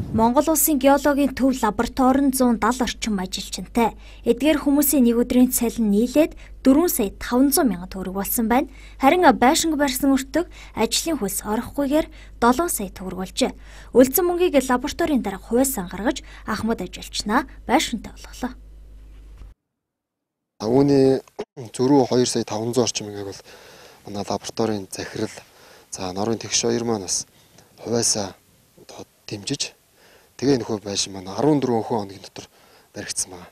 Монгол улсын геологийн төв лабораторид 170 орчим ажилчинтай. Эдгээр хүмүүсийн нэг өдрийн цалин нийлээд 4 сая 500 мянган төгрөг болсон байна. Харин байшинг барьсан өртөг ажлын хөлс орохгүйгээр 7 сая төгрөг болжээ. Үлдсэн мөнгийг лабораторийн дарга хувьсаа гаргаж Ахмад ажилчнаа байшинтай болголоо. Үүний зөрүү 2 сая 500 орчим мянгаыг бол манай лабораторийн захирал норын тэгш хоёр маань бас хувьсаа дэмжиж тэгээ нөхөө байшин маань 14 хоногийн дотор баригдсан байна.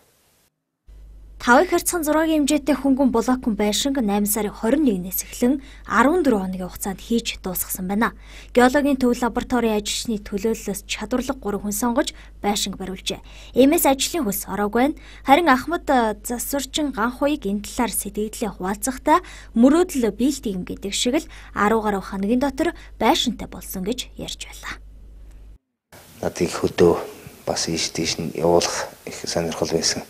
5 харьцан 6-гийн хэмжээтэй хөнгөн блокон байшинг 8 сарын 21-ээс эхлэн 14 хоногийн хугацаанд хийж дуусгасан байна. Геологийн төв лабораторийн ажилчны төлөөллөөс чадварлаг 3 хүн сонгож байшинг бариулжээ. Иймээс ажлын хөлс ороогүй байна. Харин Ахмад засварчин Ганхуйг энэ талаар сэтгэгдлээ хуваалцахдаа мөрөөдөл биелтийм гэдэг шиг л 10 гаруй хоногийн дотор байшинтай болсон гэж ярьж байлаа. Надад их хөдөө бас ийш тийш нь явуулах их сонирхол байсан.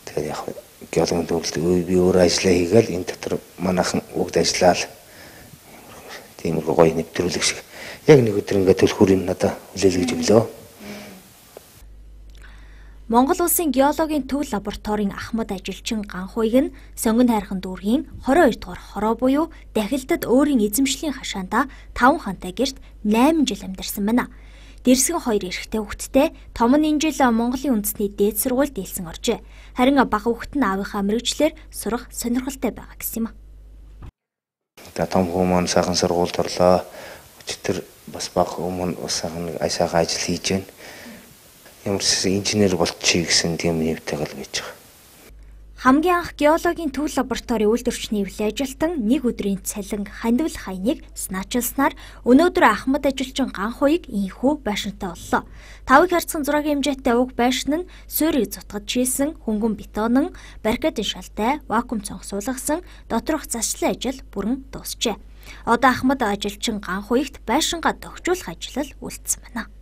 Тэгэхээр яг геологийн төвлөлт би өөр ажиллаа хийгээл энэ дотор манайхан бүгд ажиллаад тиймэрхүү гоё нэвтрүүлэг шиг яг нэг өдөр ингээд төлхөрийн надад хүлээлгэж өглөө. Монгол улсын геологийн төв лабораторийн Ахмад ажилчин Ганхуйг нь Сонгон хайрхан дүүргийн 22 дугаар хороо буюу Дахилдад өөрийн эзэмшлийн хашаандаа 5 хантай гэрт 8 жил амьдарсан байна. Дэрсгэн 2 эрэгтэй хүүхэдтэй том нь энэ жил Монголын үндэсний дээд сургуульд дийлсэн оржээ. Харин бага хүүхэд нь аавынхаа мэрэгчлэр сурах сонирхолтой байгаа гэсэн юм. Том хүмүүс сайхан сургуульд орлоо. Өчтөр бас бага хүмүүс бас сайхан ажил хийж байна. Ямар ч инженер болчихъя гэсэн тийм нэвтэйгэл байж байгаа. Хамгийн анх геологийн төв лабораторийн үйлдвэрчний эвлэн ажилтан нэг өдрийн цалин хандвал хаяныг санаачилснаар өнөөдөр Ахмад ажилчин Ганхуйг ийхүү байшинтай боллоо. 5 харьцан 6-гийн хэмжээтэй уг байшин нь суурийг зутгаж шийсэн хөнгөн бетонн, баррикадын шалтай, вакуум цонх суулгасан доторх заслын ажил бүрэн дуусжээ. Одоо Ахмад ажилчин Ганхуйгт байшингаа тохижуулах ажил үлдсэн байна.